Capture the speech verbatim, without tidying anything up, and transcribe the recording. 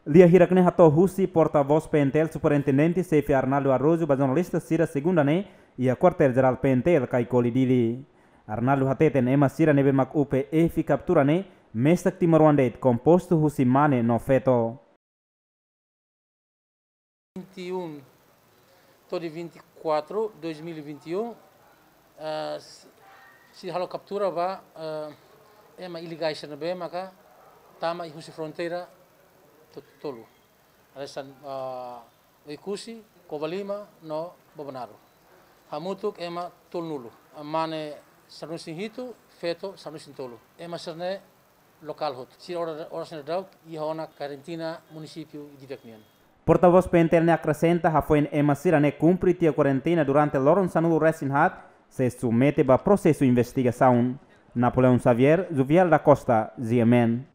Lia hirak ne'e hato'o husi porta-voz P N T L Superintendente Xefe Arnaldo Araújo ba jornalista sira segunda ne'e iha Kuartél Jerál P N T L Caicoli, Dili. Arnaldo hateten ema sira ne'ebé mak UPF kaptura ne'e mesak timoroan de'it, kompostu husi mane no feto. vinte e um to'o dia vinte e quatro dois mil e vinte e um, ah, s-, sira halo kaptura ba, ah, ema ilegais ne'ebé maka tama husi fronteira to-, tolu. Hanesan, ah, Oekusi, Covalima no Bobonaro. Hamutuk ema tolunulu. Mane sanulu-resin-hitu, feto sanulu-resin-tolu. Ema sira-ne'e lokál hotu. Sira oras, oras ne'e daudaun iha ona karantina munisípiu Dili nian. Porta-voz P N T L ne'e akresenta hafoin ema sira-ne'e kumpre tiha kuarentena durante loron sanulu-resin-haat, sei submete ba prosesu investigasaun. Napoleão Xavier, Juvial da Costa, G M N.